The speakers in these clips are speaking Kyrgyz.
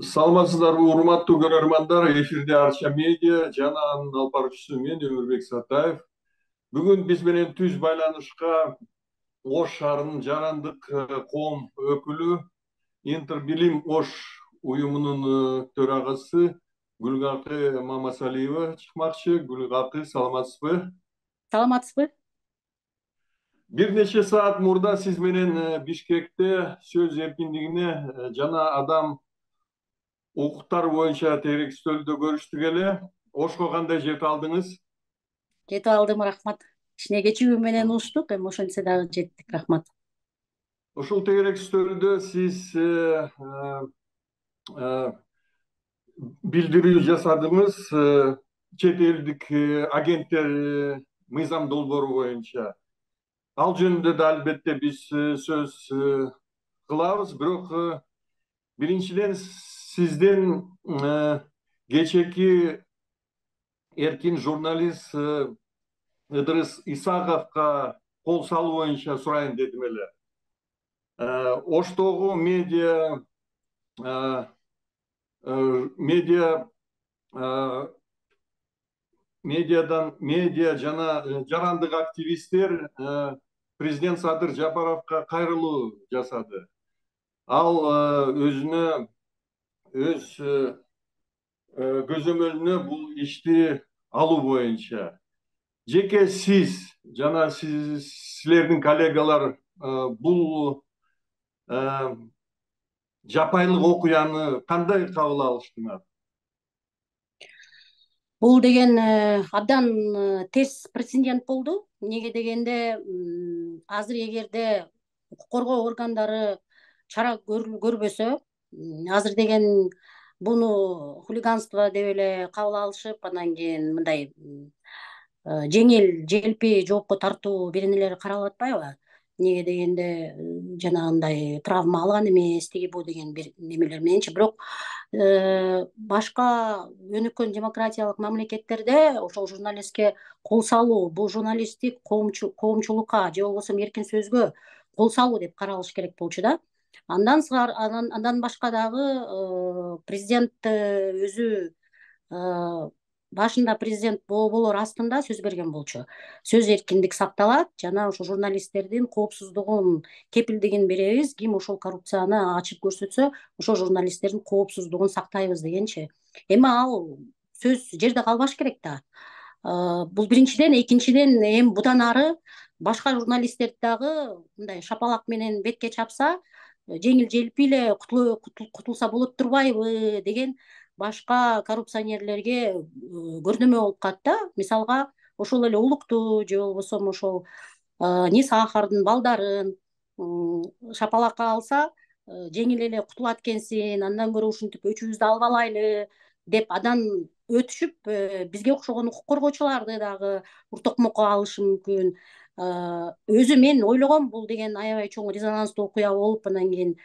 Саламатсыздарбы, урматтуу көрөрмандар. Эфирде Арча медиа жана анын алып баруучусу мен Өмүрбек Сатаев. Бүгүн биз менен түз байланышка Ош шаарынын жарандык коом өкүлү, Интербилим Ош уюмунун төрагасы Гүлгакы Мамасалиева чыкмакчы. Гүлгакы, саламатсызбы? Саламатсызбы? Бир нече саат мурда сиз менен Бишкекте сөз эркиндигине жана адам укуктары боюнча теrekстөөлдө көрүштүк эле. Ошко кандай жетип алдыңыз? Жетип алдым, рахмат. Кичине кечүүбү менен угуштук, эми ошентсе дагы жеттик, рахмат. Ушул теrekстөөлдө сиз билдирүү жасадыңыз чет элдик агенттер мыйзам долбоору боюнча. Ал жөнүндө да албетте биз сөз кылабыз, бирок биринчиден сизден кечээки эркин журналист Ыдырыс Исаковго кол салуу боюнча сурайын дедим эле. Оштогу медиа жана жарандык активисттер президент Садыр Жапаровго кайрылуу жасады. Ал өзүнө өз көзөмөлүнө бул ишти алуу боюнча. Жеке сиз жана силердин коллегалар бул жапайылык окуяны кандай кабыл алыштыңар? Бул деген абдан терс прецедент болду. Эмнеге дегенде азыр эгерде укук коргоо органдары чара көрбөсө, азыр деген буну хулиганство деп эле кабыл алышып, анан кийин мындай жеңил желпи жоопко тартуу беренелери каралып атпайбы? Эмнеге дегенде жанагындай травма алган эмес, тиги бу деген бир немелер мененчи. Бирок башка өнүккөн демократиялык мамлекеттерде ошол журналистке кол салуу, бул журналисттик коомчулукка же болбосо эркин сөзгө кол салуу деп каралыш керек болчу да. Андан башка дагы президент өзү башында президент болоор астында сөз берген болчу. Сөз эркиндик сакталат жана ошо журналисттердин коопсуздугун кепилдигин беребиз. Ким ошол коррупцияны ачып көрсөтсө, ошол журналисттердин коопсуздугун сактайбыз дегенчи. Эми ал сөз жерде калбаш керек да. Бул биринчиден, экинчиден эми будан ары башка журналисттерди дагы мындай шапалак менен бетке чапса, жеңил желпи эле кутулса болот турбайбы деген башка коррупционерлерге көрнөмө болуп калат да. Мисалга, ошол эле Улукту же болбосо ошол Ниса Ахардын балдарын шапалакка алса, жеңил эле кутулат экенсин, андан көрө ушинтип өчүбүздү албалайлы деп андан өтүшүп, бизге окшогон укук коргоочуларды дагы уртокмокко алышы мүмкүн. Өзү мен ойлогом бул деген аябай чоң резонанстуу окуя болуп, анан кийин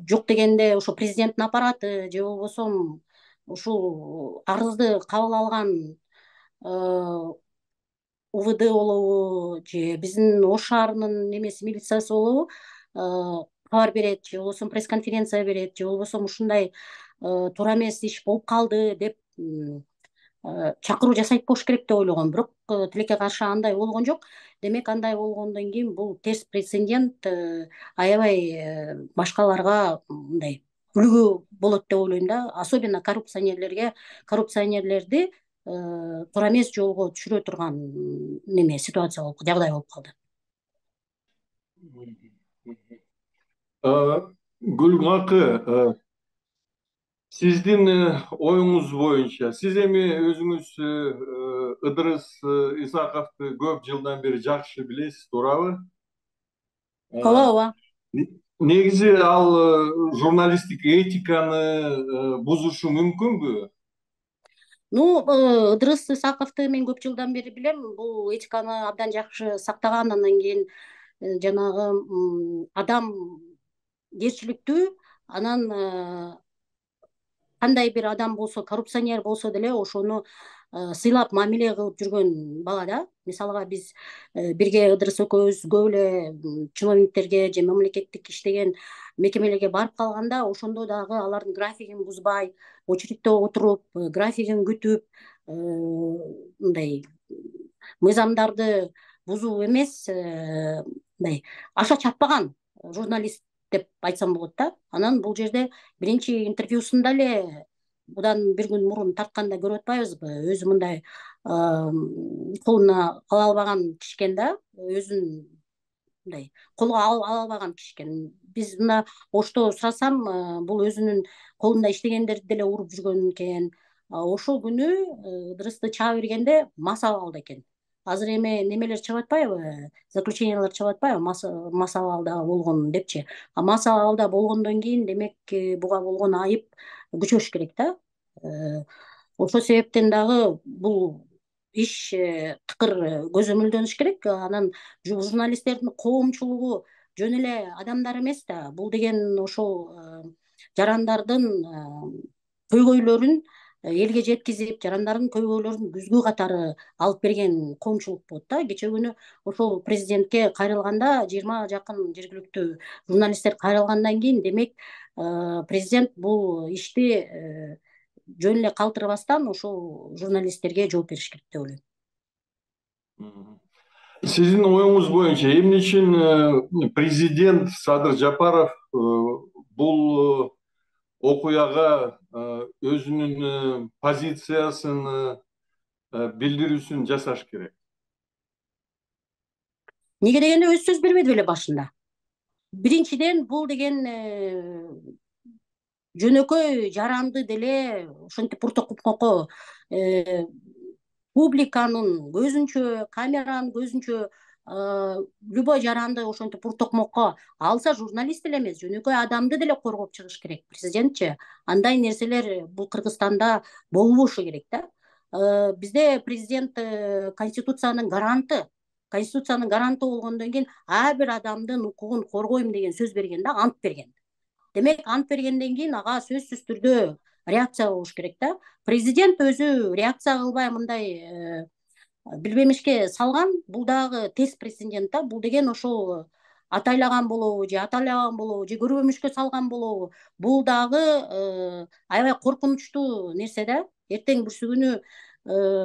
жок дегенде ошо президенттин аппараты же болбосо ушул арызды кабыл алган УВД болобу же биздин Ош шаарынын немеси милициясы болобу кабар берет же болбосо пресс-конференция берет же болбосо ушундай туура эмес иш болуп калды деп чакыруу жасайт болуш керек деп ойлогом. Бирок тилекке каршы андай болгон жок. Демек, андай болгондон кийин бул терс прецедент аябай башкаларга мындай үлгү болот деп ойлойм да. Особенно коррупционерлерди туура эмес жолго түшүрө турган неме ситуация болуп, жагдай болуп калды. Гүлгакы, сиздин оюңуз боюнча, сиз эми өзүңүз Ыдырыс Исаковду көп жылдан бери жакшы билесиз, туурабы? Ооба. Негизи ал журналисттик этиканы бузушу мүмкүнбү? Ыдырыс Исаковду мен көп жылдан бери билем. Бул этиканы абдан жакшы сактаган, андан кийин жанагы адам керчиликтүү, анан кандай бир адам болсо, коррупционер болсо деле ошону сыйлап мамиле кылып жүргөн бала да. Мисалга биз бирге Ыдырыс экөөбүз көп эле чиновниктерге же мамлекеттик иштеген мекемелерге барып калганда ошондо дагы алардын графигин бузбай, очередьте отуруп, графигин күтүп, мындай мыйзамдарды бузуу эмес, мындай аша чаппаган журналист деп айтсам болот да. Анан бул жерде биринчи интервьюсунда эле будан бир күн мурун тартканда көрүп атпайбызбы, өзү мындай колуна ала албаган киши экен да, өзүн мындай колго ала албаган киши экен. Биз мына Ошто сурасам, бул өзүнүн колунда иштегендерди деле уруп жүргөн экен. Ошол күнү Ыдырысты чаап бергенде мас абалда экен. Азыр эми немелер чыгып атпайбы, заключениялар чыгып атпайбы, мас абалда болгон депчи. Мас абалда болгондон кийин демек буга болгон айып күчөш керек да. Ошол себептен дагы бул иш тыкыр көзөмөлдөнүш керек. Анан журналисттердин коомчулугу жөн эле адамдар эмес да. Бул деген ошол жарандардын көйгөйлөрүн элге жеткизип, жарандардын көйгөйлөрүн күзгү катары алып берген коомчулук болот да. Кечээ күнү ошол президентке кайрылганда 20 жакын жергиликтүү журналисттер кайрылгандан кийин демек президент бул ишти жөн эле калтырбастан ошол журналисттерге жооп бериш керек деп ойлойм. Сиздин оюңуз боюнча эмне үчүн президент Садыр Жапаров бул окуяга өзүнүн позициясын билдирүүсүн жасаш керек? Неге дегенде өз сөз бербеди беле башында. Биринчиден бул деген жөнөкөй жаранды деле ошентип уртокко публиканын көзүнчө, камеранын көзүнчө любой жаранды ошентип уртокмокко алса, журналист деле эмес, жөнөкөй адамды деле коргоп чыгыш керек президентчи. Андай нерселер бул Кыргызстанда болбошу керек да. Бизде президент конституциянын гаранты болгондон кийин ар бир адамдын укугун коргойм деген сөз берген да, ант берген. Демек, ант бергенден кийин ага сөзсүз түрдө реакция болуш керек да. Президент өзү реакция кылбай мындай билбемишке салган, бул дагы тест прецедент да. Бул деген ошол атайлаган болобу же атайлабаган болобу же көрбөмүшкө салган болобу, бул дагы аябай коркунучтуу нерсе да. Эртең бүрсү күнү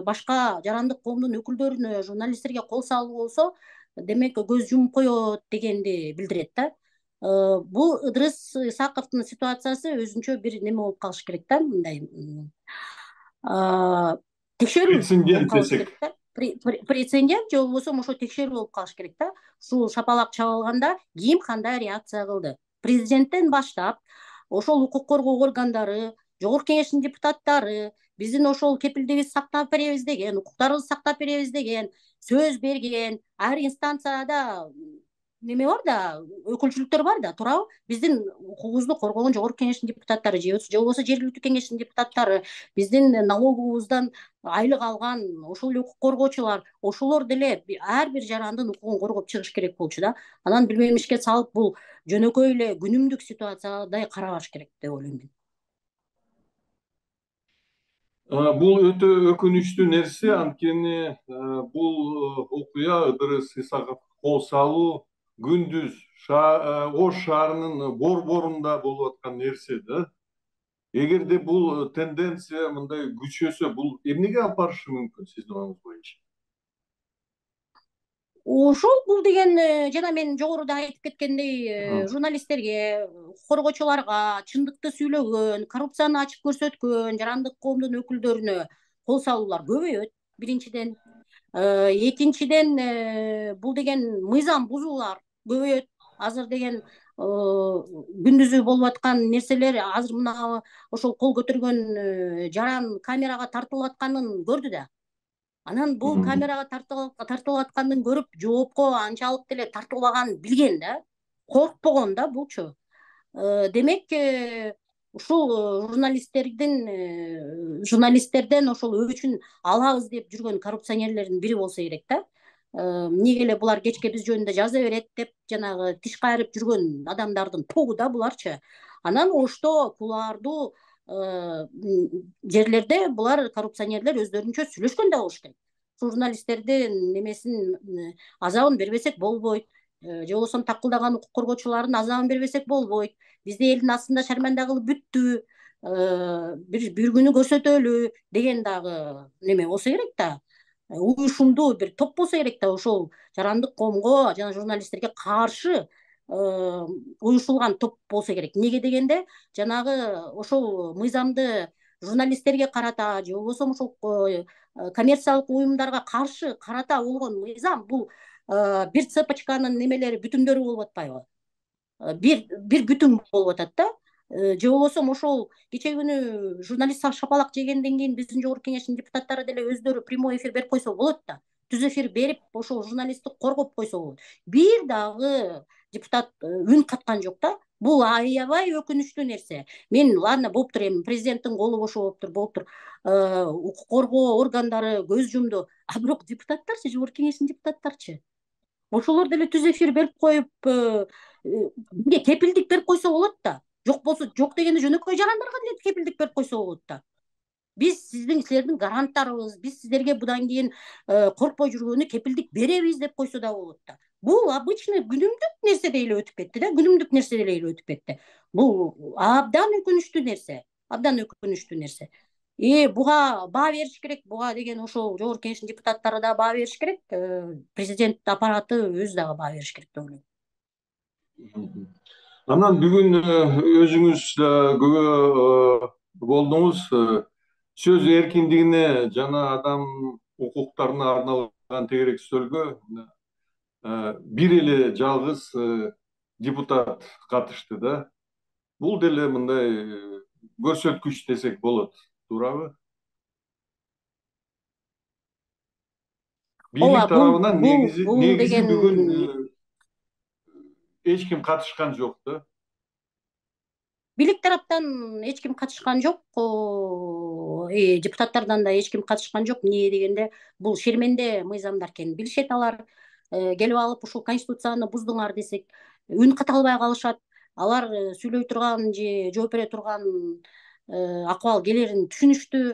башка жарандык коомдун өкүлдөрүнө, журналисттерге кол салуу болсо, демек көз жумуп коет дегенди билдирет да. Бул Ыдырыс Исаковдун ситуациясы өзүнчө бир неме болуп калыш керек да, мындай текшерүү болуп калыш керек да. Прецедент же болбосо ошо текшерүү болуп калыш керек да. Ушул шапалак чабылганда ким кандай реакция кылды? Президенттен баштап, ошол укук коргоо органдары, Жогорку Кеңештин депутаттары, биздин ошол кепилдигибизди сактап беребиз деген, укуктарыбызды сактап беребиз деген сөз берген, ар инстанцияда неме бар да, өкүлчүлүктөр бар да, туурабы? Биздин укугубузду коргогон Жогорку Кеңештин депутаттары же болбосо жергиликтүү кеңештин депутаттары, биздин налоговуздан айлык алган ошол эле укук коргоочулар, ошолор деле ар бир жарандын укугун коргоп чыгыш керек болчу да. Анан билбемишке салып бул жөнөкөй эле күнүмдүк ситуациядай карабаш керек деп ойлойм мен. Бул өтө өкүнүчтүү нерсе, анткени бул окуя Ыдырыс Исаков кол салуу күндүз Ош шаарынын борборунда болуп аткан нерсе да. Эгерде бул тенденция мындай күчөсө, бул эмнеге алып барышы мүмкүн сиздин оюңуз боюнча? Ошол бул деген жана мен жогоруда айтып кеткендей, журналисттерге, коргоочуларга, чындыкты сүйлөгөн, коррупцияны ачык көрсөткөн жарандык коомдун өкүлдөрүнө кол салуулар көбөйөт, биринчиден. Экинчиден, бул деген мыйзам бузуулар көбөйөт. Азыр деген күндүзү болуп аткан нерселер, азыр мына ошол кол көтөргөн жаран камерага тартылып атканын көрдү да. Анан бул камерага тартылып атканын көрүп, жоопко анчалык деле тартылбаганын билген да, коркпогон да булчу. Демек, ушул журналисттерден ошол өчүн алабыз деп жүргөн коррупционерлердин бири болсо керек да. эмнеге эле булар кечке биз жөнүндө жаза берет деп жанагы тиш кайрып жүргөн адамдардын тобу да буларчы. Анан ошто кулуардуу жерлерде булар коррупционерлер өздөрүнчө сүйлөшкөн да болуш керек. Журналисттердин немесин азабын бербесек болбойт, же болбосо такылдаган укук коргоочулардын азабын бербесек болбойт. Бизди элдин астында шарманда кылып бүттү, бир күнү көрсөтөлү деген дагы неме болсо керек да. Уюшумдуу бир топ болсо керек да, ошол жарандык коомго жана журналисттерге каршы уюшулган топ болсо керек. Эмнеге дегенде, жанагы ошол мыйзамды журналисттерге карата же болбосо ошол коммерциялык уюмдарга каршы карата болгон мыйзам бул бир цепочканын немелери, бүтүндөрү болуп атпайбы? Бир бүтүн болуп атат да. Же болбосо ошол кечээ күнү журналист шапалак жегенден кийин биздин жогорку кеңештин депутаттары деле өздөрү прямой эфир берип койсо болот да. Түз эфир берип ошол журналистти коргоп койсо болот. Бир дагы депутат үн каткан жок да. Бул аябай өкүнүчтүү нерсе. Мен ладно болуптур, эми президенттин колу бошо болуптур, укук коргоо органдары көз жумду. А бирок депутаттарчы, жогорку кеңештин депутаттарчы? Ошолор деле түз эфир берип коюп, бизге кепилдик берип койсо болот да. Жок болсо, жок дегенде жөнөкөй жарандарга деле кепилдик берип койсо болот да. Биз силердин гаранттарыбыз, биз сиздерге будан кийин коркпой жүргөнү кепилдик беребиз деп койсо да болот да. Бул обычный күнүмдүк нерседей эле өтүп кетти да, күнүмдүк нерседей эле өтүп кетти. Бул абдан өкүнүчтүү нерсе, абдан өкүнүчтүү нерсе. Буга баа бериш керек, буга деген ошол жогорку кеңештин депутаттары да баа бериш керек, президент аппараты өзү дагы баа бериш керек деп ойлойм. Анан бүгүн өзүңүз күбө болдуңуз, сөз эркиндигине жана адам укуктарына арналган тегерек үстөлгө бир эле жалгыз депутат катышты да. Бул деле мындай көрсөткүч десек болот, туурабы? Бийлик тарабынан негизи бүгүн эч ким катышкан жок да. Бийлик тараптан эч ким катышкан жок, депутаттардан да эч ким катышкан жок. Эмне дегенде, бул шерменде мыйзамдар экенин билишет алар. Келип алып ушул конституцияны буздуңар десек, үн ката албай калышат. Алар сүйлөй турган же жооп бере турган акыбал келерин түшүнүштүү,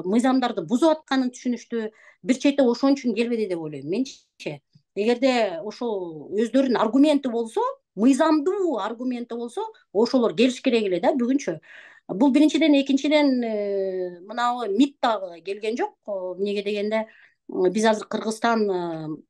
мыйзамдарды бузуп атканын түшүнүштүү. Бир чети ошон үчүн келбеди деп ойлойм менчи. Эгерде ошол өздөрүнүн аргументи болсо, мыйзамдуу аргументи болсо, ошолор келиш керек эле да бүгүнчү. Бул биринчиден, экинчиден мынабы МИД дагы келген жок. Эмнеге дегенде, биз азыр Кыргызстан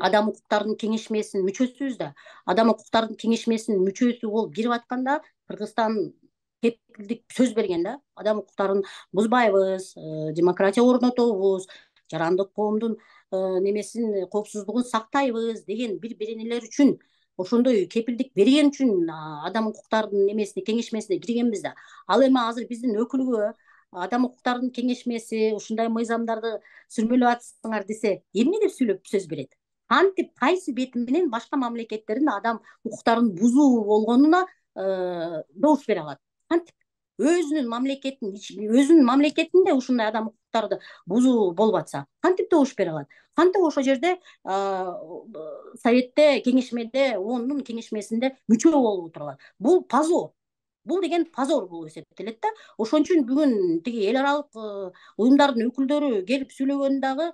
адам укуктарынын кеңешмесинин мүчөсүбүз да. Адам укуктарынын кеңешмесинин мүчөсү болуп кирип атканда Кыргызстан кепилдик сөз берген да. Адам укуктарын бузбайбыз, демократия орнотобуз, жарандык коомдун немесин, коопсуздугун сактайбыз деген бир беренелер үчүн, ошондой кепилдик берген үчүн адам укуктарынын немесине, кеңешмесине киргенбиз да. Ал эми азыр биздин өкүлгө адам укуктарынын кеңешмеси ушундай мыйзамдарды сүрмөлөп атсыңар десе, эмне деп сүйлөп сөз берет? Кантип, кайсы бети менен башка мамлекеттердин адам укуктарын бузуу болгонуна добуш бере алат? Кантип? Өзүнүн мамлекетинде ушундай адам укуктарды бузуу болуп атса, кантип добуш бере алат? Кантип ошол жерде Советте, кеңешмеде, ООНдун кеңешмесинде мүчө болуп отура алат? Бул позор. Бул деген позор болуп эсептелет да. Ошон үчүн бүгүн тиги эл аралык уюмдардын өкүлдөрү келип сүйлөгөн дагы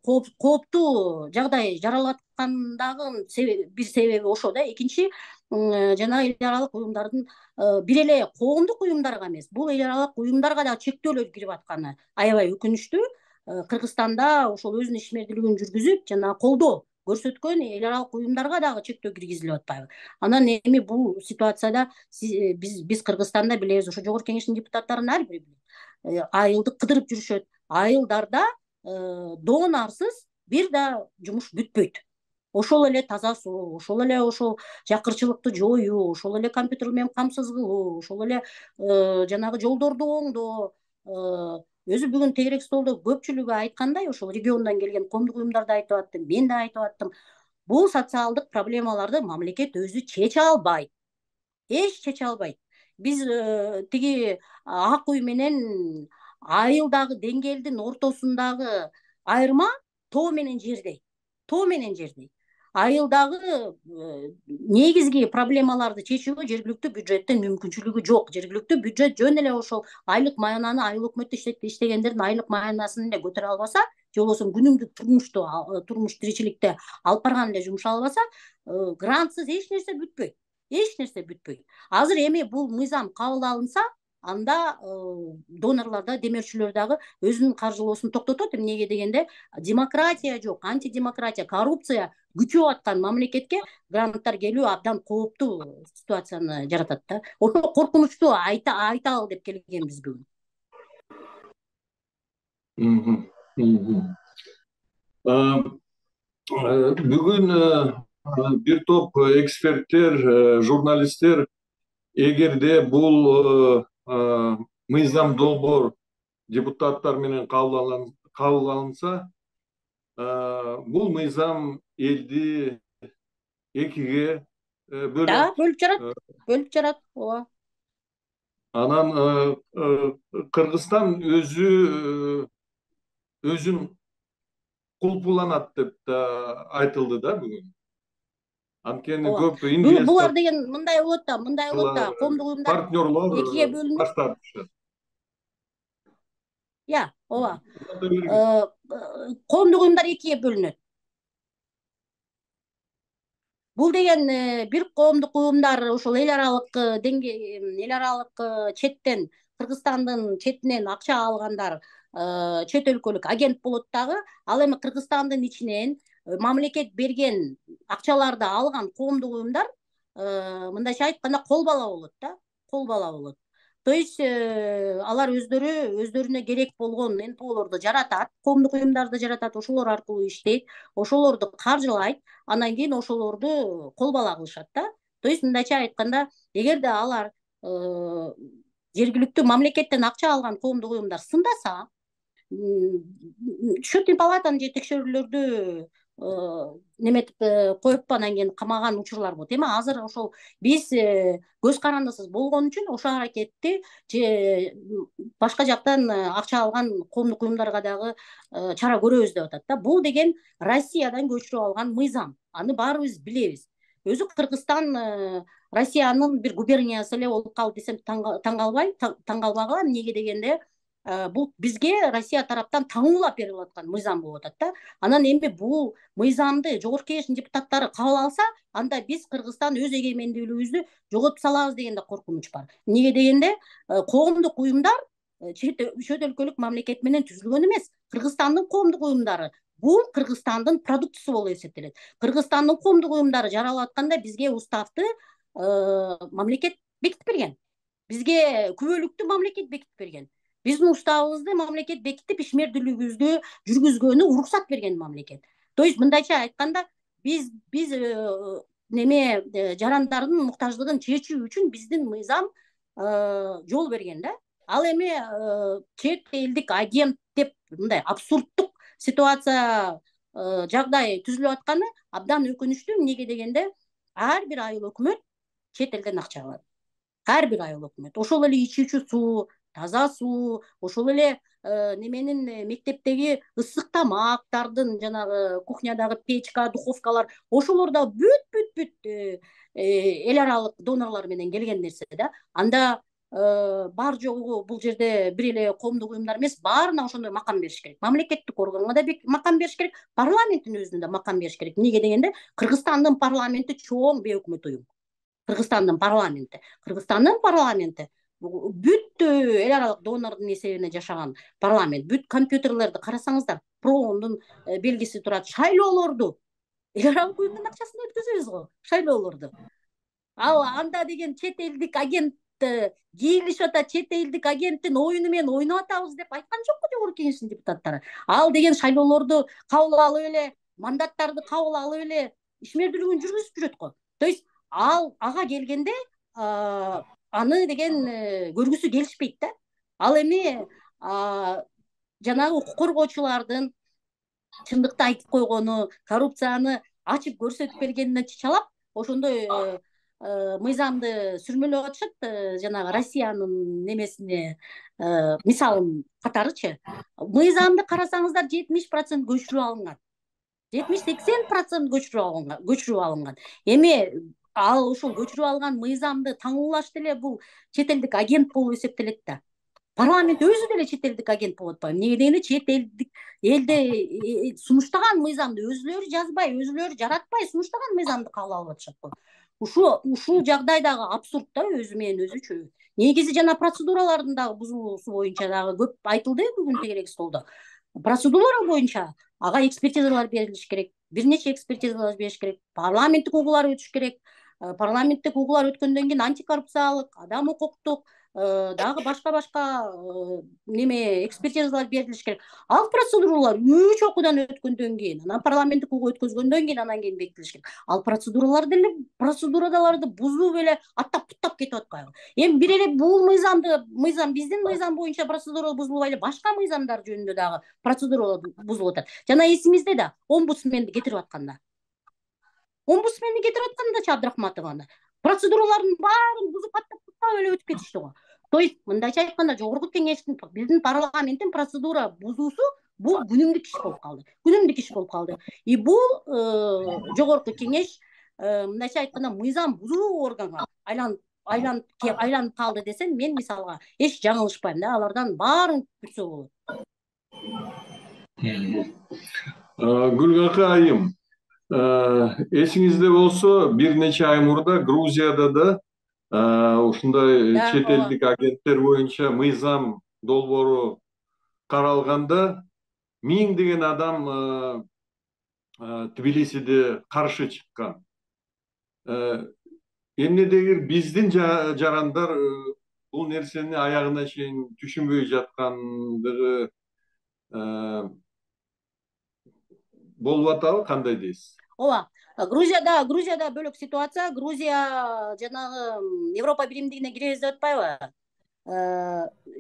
кооптуу жагдай жаралып аткандагы бир себеби ошо да. Экинчи, жана эл аралык уюмдардын бир эле коомдук уюмдарга эмес, бул эл аралык уюмдарга да чектөөлөр кирип атканы аябай өкүнүчтүү. Кыргызстанда ошол өзүнүн ишмердүүлүгүн жүргүзүп жана колдоо көрсөткөн эл аралык уюмдарга дагы чектөө киргизилип атпайбы? Анан эми бул ситуацияда биз Кыргызстанда билебиз, ошо жогорку кеңештин депутаттарынын ар бири айылды кыдырып жүрүшөт. Айылдарда доонарсыз бир да жумуш бүтпөйт. Ошол эле таза суу, ошол эле ошол жакырчылыкты жоюу, ошол эле компьютер менен камсыз кылуу, ошол эле жанагы жолдорду оңдоо. Өзү бүгүн тегерек столдо көпчүлүгү айткандай, ошол региондон келген коомдук уюмдар да айтып аттым, мен да айтып аттым. Бул социалдык проблемаларды мамлекет өзү чече албайт. Эч чече албайт. Биз тиги ак үй менен айылдагы деңгээлдин ортосундагы айырма тоо менен жердей. Тоо менен жердей. Айылдагы негизги проблемаларды чечүүгө жергиликтүү бюджеттин мүмкүнчүлүгү жок. Жергиликтүү бюджет жөн эле ошол айлык маянаны айыл өкмөттө иштегендердин айлык маянасын эле көтөрө албаса, же болбосо күнүмдүк турмуш тиричиликте алып барган эле жумуша албаса, грантсыз эч нерсе бүтпөйт. Эч нерсе бүтпөйт. Азыр эми бул мыйзам кабыл алынса, анда донорлор да, демөөрчүлөр дагы өзүнүн каржылоосун токтотот. Эмнеге дегенде, демократия жок, антидемократия, коррупция күчөп аткан мамлекетке гранттар келүү абдан кооптуу ситуацияны жаратат да. Ошо коркунучту айталы деп келгенбиз бүгүн. Бүгүн бир топ эксперттер, журналисттер, эгерде бул мыйзам долбоор депутаттар менен кабыл алынса, бул мыйзам элди экиге бөлүп жарат. Ооба. Анан Кыргызстан өзүн кулпуланат деп да айтылды да бүгүн. Анткени көп булар деген мындай болот да, коомдук уюмдар партнерлор экиге бөлүнүп. баш тартышат. Ооба. Коомдук уюмдар экиге бөлүнөт. Бул деген бир коомдук уюмдар ошол эл аралык четтен, Кыргызстандын четинен акча алгандар чет өлкөлүк агент болот дагы. Ал эми Кыргызстандын ичинен мамлекет берген акчаларды алган коомдук уюмдар мындайча айтканда кол бала болот да, кол бала болот. То есть алар өздөрүнө керек болгон НПОлорду жаратат, коомдук уюмдарды жаратат, ошолор аркылуу иштейт, ошолорду каржылайт, анан кийин ошолорду кол бала кылышат да. То есть мындайча айтканда, эгерде алар жергиликтүү мамлекеттен акча алган коомдук уюмдар сындаса, счетный палатаны же текшерүүлөрдү неметип коюп анан кийин камаган учурлар болот. Эми азыр ошол биз көз карандысыз болгон үчүн ошол аракетти же башка жактан акча алган коомдук уюмдарга дагы чара көрөбүз деп атат да. Бул деген Россиядан көчүрүп алган мыйзам. Аны баарыбыз билебиз. Өзү Кыргызстан Россиянын бир губерниясы эле болуп калды десем таң калбагыла. Эмнеге дегенде, бул бизге Россия тараптан таңуулап берилип аткан мыйзам болуп атат да. Анан эми бул мыйзамды жогорку кеңештин депутаттары кабыл алса, анда биз Кыргызстан өз эгемендүүлүгүбүздү жоготуп салабыз деген да коркунуч бар. Эмнеге дегенде, коомдук уюмдар чет өлкөлүк мамлекет менен түзүлгөн эмес. Кыргызстандын коомдук уюмдары бул Кыргызстандын продуктусу болуп эсептелет. Кыргызстандын коомдук уюмдары жаралып атканда бизге уставды мамлекет бекитип берген. Бизге күбөлүктү мамлекет бекитип берген. Биздин уставыбызды мамлекет бекитип, ишмердүүлүгүбүздү жүргүзгөнү уруксат берген мамлекет. То есть мындайча айтканда, биз жарандардын муктаждыгын чечүү үчүн биздин мыйзам жол берген да. Ал эми чет элдик агент деп мындай абсурдтук ситуация, жагдай түзүлүп атканы абдан өкүнүчтүү. Эмнеге дегенде, ар бир айыл өкмөт чет элден акча алат. Ар бир айыл өкмөт. Ошол эле ичүүчү суу, таза суу, ошол эле мектептеги ысык тамактардын, жанагы кухнядагы печка, духовкалар, ошолор да бүт эл аралык донорлор менен келген нерсе да. Анда бар жогу бул жерде бир эле коомдук уюмдар эмес, баарына ошондой макам бериш керек. Мамлекеттик органга да макам бериш керек, парламенттин өзүнө да макам бериш керек. Эмнеге дегенде, Кыргызстандын парламенти чоң бейөкмөт уюм. Кыргызстандын парламенти бүт эл аралык донордун эсебине жашаган парламент. Бүт компьютерлерди карасаңыздар, проондун белгиси турат. Шайлоолорду эл аралык уюмдун акчасына өткөзөбүз го, шайлоолорду. Ал анда деген чет элдик агент кийилишип атат, чет элдик агенттин оюну менен ойноп атабыз деп айткан жокпу жогорку кеңештин депутаттары. Ал деген шайлоолорду кабыл алып эле, мандаттарды кабыл алып эле ишмердүүлүгүн жүргүзүп жүрөт го. То есть ага келгенде аны деген көргүсү келишпейт да. Ал эми жанагы укук коргоочулардын чындыкты айтып койгону, коррупцияны ачып көрсөтүп бергенине чычалап, ошондой мыйзамды сүрмөлөп атышат, жанагы Россиянын немесине, мисалын катарычы. Мыйзамды карасаңыздар 70% көчүрүп алынган. 70-80% көчүрүп алынган. Эми ал ошол көчүрүп алган мыйзамды таңуулаш деле бул чет элдик агент болуп эсептелет да. Парламент өзү деле чет элдик агент болуп атпайбы? Эмнеге дегенде чет элде сунуштаган мыйзамды өзүлөрү жазбай, өзүлөрү жаратпай сунуштаган мыйзамды кабыл алып атышат го. Ушул жагдай дагы абсурд да өзү менен өзүчө. Негизи жана процедуралардын дагы бузулуусу боюнча дагы көп айтылды бүгүн тегерек столдо. Процедуралар боюнча ага экспертизалар берилиш керек, бир нече экспертизалар бериш керек, парламенттик угуулар өтүш керек. Парламенттик угуулар өткөндөн кийин антикоррупциялык, адам укуктук дагы башка неме экспертизалар берилиш керек. Ал процедуралар 3 окуудан өткөндөн кийин, анан парламенттик угуу өткөзгөндөн кийин анан кийин бекитилиш керек. Ал процедураларды бузуп эле аттап кетип атпайбы? Эми бир эле бул мыйзам биздин мыйзам боюнча процедура бузулбай эле башка мыйзамдар жөнүндө дагы процедуралар бузулуп атат. Жана эсиңизде да омбудсменди кетирип атканда Абдрахматованы процедуралардын баарын бузуп аттап эле өтүп кетишти го. То есть мындайча айтканда жогорку кеңештин, биздин парламенттин процедура бузуусу бул күнүмдүк иш болуп калды. И бул жогорку кеңеш мындайча айтканда мыйзам бузуу органга айланып калды десем, мен мисалга эч жаңылышпайм да, алардан баарын күтсө болот. Гүлгакы айым, эсиңизде болсо бир нече ай мурда Грузияда да ушундай чет элдик агенттер боюнча мыйзам долбоору каралганда миңдеген адам Тбилисиде каршы чыккан. Эмнедегир биздин жарандар бул нерсени аягына чейин түшүнбөй жаткандыгы болуп атабы, кандай дейсиз? Ооба, Грузияда бөлөк ситуация. Грузия жанагы Европа биримдигине киребиз деп атпайбы?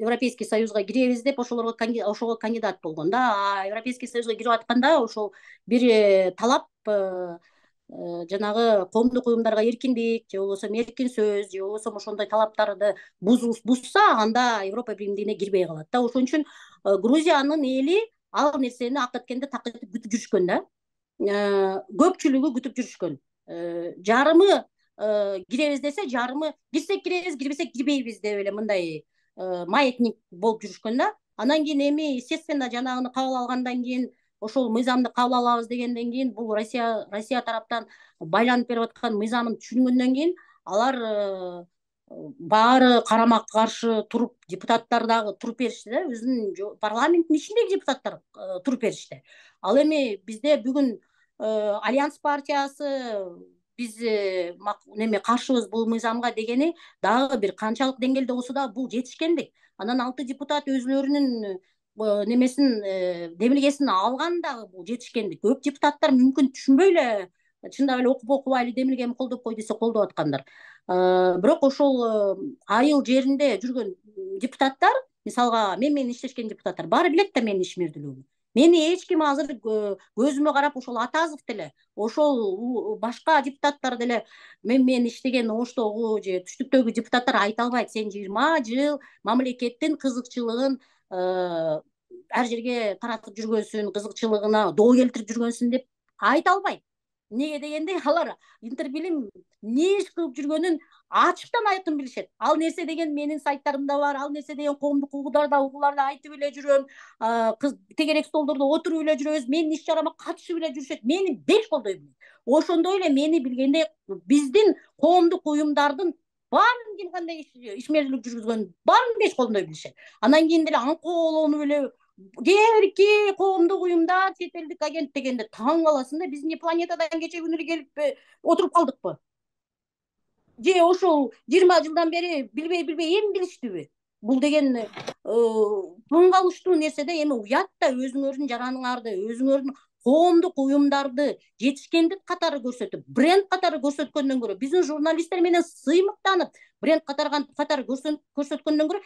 Европейский Союзга киребиз деп ошого кандидат болгон да. А Европейский Союзга кирип атканда ошол бир талап жанагы коомдук уюмдарга эркиндик, же болбосо эркин сөз, же болбосо ошондой талаптарды бузса, анда Европа биримдигине кирбей калат да. Ошон үчүн Грузиянын эли ал нерсени акы эткенде күтүп жүрүшкөн да. Көпчүлүгү күтүп жүрүшкөн. Жарымы киребиз десе, жарымы кирсек киребиз, кирбесек кирбейбиз деп эле мындай маятник болуп жүрүшкөн да. Анан кийин эми естественно жанагыны кабыл алгандан кийин, ошол мыйзамды кабыл алабыз дегенден кийин, бул Россия тараптан байланып берип аткан мыйзамын түшүнгөндөн кийин алар баары карама каршы туруп, депутаттар дагы туруп беришти да, өзүнүн парламенттин ичиндеги депутаттар туруп беришти. Ал эми бизде бүгүн Альянс партиясы биз каршыбыз бул мыйзамга дегени дагы бир канчалык деңгээлде болсо да бул жетишкендик. Анан 6 депутат өзүлөрүнүн немесин демилгесин алган дагы бул жетишкендик. Көп депутаттар мүмкүн түшүнбөй эле, чындап эле окубай эле демилгени колдоп кой десе колдоп аткандар. Бирок ошол айыл жеринде жүргөн депутаттар, мисалга мен менен иштешкен депутаттар баары билет да менин ишмердүүлүгүмдү. Мени эч ким азыр көзүмө карап, ошол Атазов деле, ошол башка депутаттар деле, мен менен иштеген Оштогу же Түштүктөгү депутаттар айта албайт, сен 20 жыл мамлекеттин кызыкчылыгын ар жерге таратып жүргөнсүн, кызыкчылыгына доо келтирип жүргөнсүн деп айта албайт. Эмнеге дегенде алар Интербилим не иш кылып жүргөнүн ачыктан айкын билишет. Ал нерсе деген менин сайттарымда бар, ал нерсе деген коомдук угууларда айтып эле жүрөм, тегерек столдордо отуруп эле жүрөбүз, менин иш чарама катышып эле жүрүшөт, мени беш колдой билет. Ошондой эле мени билгенде биздин коомдук уюмдардын баарын ким кандай ишмердүүлүк жүргүзгөн баарын беш колдой билишет. Анан кийин деле аңкоолонуп эле кээки коомдук уюмдар, чет элдик агент дегенде таң каласың да, биз эмне планетадан кече күнү эле келип отуруп калдыкпы? Же ошол 20 жылдан бери билбей эми билиштиби? Бул деген таң калыштуу нерсе да. Эми уят да, өзүңөрдүн жараныңарды, өзүңөрдүн коомдук уюмдарды жетишкендик катары көрсөтүп, бренд катары көрсөткөндөн көрө, биздин журналисттер менен сыймыктанып, бренд катары көрсөткөндөн көрө,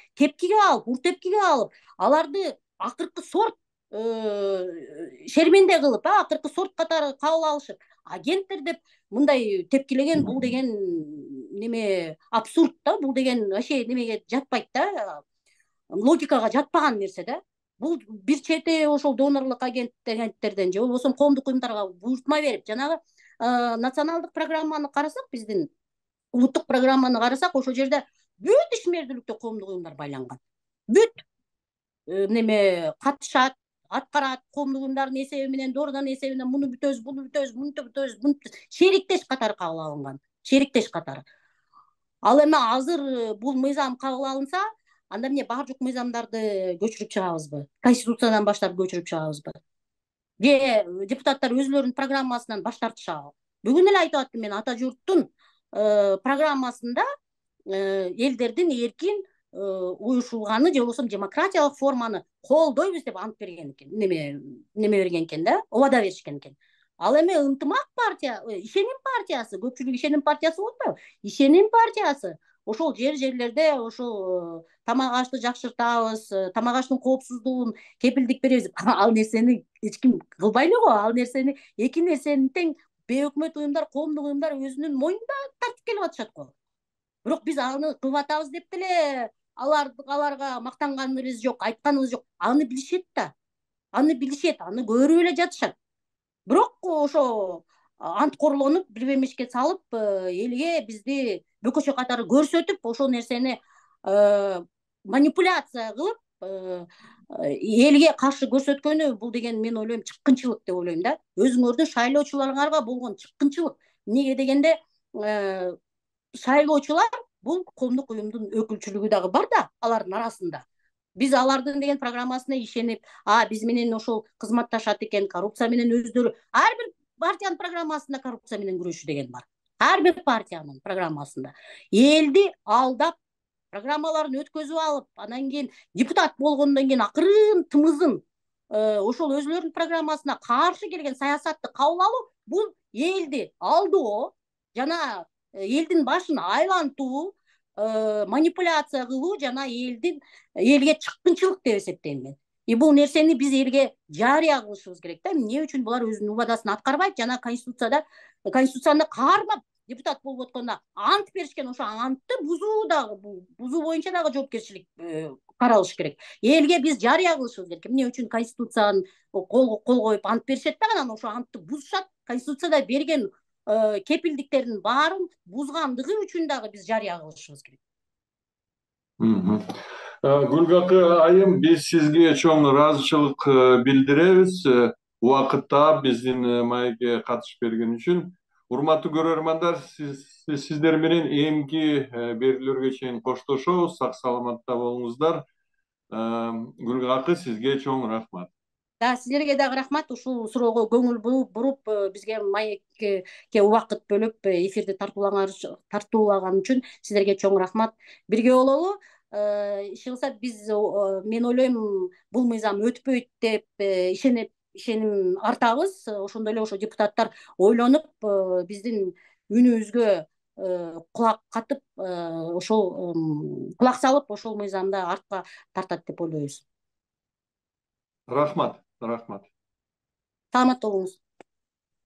ур тепкиге алып, аларды акыркы сорт шерменде кылып, акыркы сорт катары кабыл алышып, агенттер деп мындай тепкилеген, бул деген неме абсурд да, бул деген вообще немеге жатпайт да, логикага жатпаган нерсе да. бул бир чети ошол донорлук агенттерден же болбосо коомдук уюмдарга буйртма берип, жанагы националдык программаны карасак, биздин улуттук программаны карасак, ошол жерде бүт ишмердүүлүктө коомдук уюмдар байланган. Бүт неме катышат, аткарат, коомдук уюмдардын эсеби менен, доорудан эсеби менен муну бүтөбүз, буну бүтөбүз, муну бүтөбүз, шериктеш катары кабыл алынган. Шериктеш катары. Ал эми азыр бул мыйзам кабыл алынса, анда эмне бар жок мыйзамдарды көчүрүп чыгабызбы? Конституциядан баштап көчүрүп чыгабызбы? Же депутаттар өзүлөрүнүн программасынан баш тартышабы? Бүгүн эле айтып аттым мен, ата журттун программасында элдердин эркин уюшулганы же болбосо демократиялык форманы колдойбуз деп ант берген экен, неме берген экен да, убада беришкен экен. Ал эми ынтымак партия, ишеним партиясы, көпчүлүк ишеним партиясы болуп атпайбы? Ишеним партиясы ошол жерлерде ошол тамак ашты жакшыртабыз, тамак аштын коопсуздугун кепилдик беребиз. Ал нерсени эч ким кылбай эле го. Ал нерсени эки нерсени тең бейөкмөт уюмдар, коомдук уюмдар өзүнүн мойнунда тартып келип атышат го. Бирок биз аны кылып атабыз деп деле аларга мактанганыбыз жок, айтканыбыз жок. Аны билишет да. Аны билишет, аны көрүп эле жатышат. Бирок ошо анткорлонуп, бир мешке салып, элге бизди бөкөчө катары көрсөтүп, ошол нерсени манипуляция кылып, элге каршы көрсөткөнү, бул деген мен ойлойм чыккынчылык деп ойлойм да. Өзүңөрдүн шайлоочуларыңарга болгон чыккынчылык. Эмнеге дегенде, шайлоочулар бул коомдук уюмдун өкүлчүлүгү дагы бар да алардын арасында. Биз алардын деген программасына ишенип, биз менен ошол кызматташат экен, коррупция менен өздөрү, ар бир партиянын программасында коррупция менен күрөшүү деген бар. Ар бир партиянын программасында. Элди алдап, программаларын өткөзүп алып, анан кийин депутат болгондон кийин акырын тымызын ошол өзүлөрүнүн программасына каршы келген саясатты кабыл алуу, бул элди алдоо жана элдин башын айлантуу, манипуляция кылуу жана элге чыккынчылык деп эсептейм мен. Бул нерсени биз элге жарыя кылышыбыз керек да. Эмне үчүн булар өзүнүн убадасын аткарбайт жана конституцияны кармап депутат болуп атканда ант беришкен, ошо антты бузуу боюнча дагы жоопкерчилик каралыш керек. Элге биз жарыя кылышыбыз керек. Эмне үчүн конституцияны кол коюп ант беришет да, анан ошо антты бузушат. Конституцияда берген кепилдиктердин баарын бузгандыгы үчүн дагы биз жарыя кылышыбыз керек. Гүлгакы айым, биз сизге чоң ыраазычылык билдиребиз. Убакытта биздин маекке катышып берген үчүн. Урматтуу көрөрмандар, сиздер менен эмки берүүлөргө чейин коштошобуз. Сак саламатта болуңуздар. Гүлгакы, сизге чоң рахмат. Силерге дагы рахмат. Ушул суроого көңүл буруп, бизге маекке убакыт бөлүп, эфирди тартуулаган үчүн силерге чоң рахмат. Бирге бололу. Иши кылса мен ойлойм, бул мыйзам өтпөйт деп ишеним артабыз. Ошондой эле ошо депутаттар ойлонуп, биздин үнүбүзгө кулак катып, ошол кулак салып, ошол мыйзамды артка тартат деп ойлойбуз. Рахмат. Саламатта болуңуз.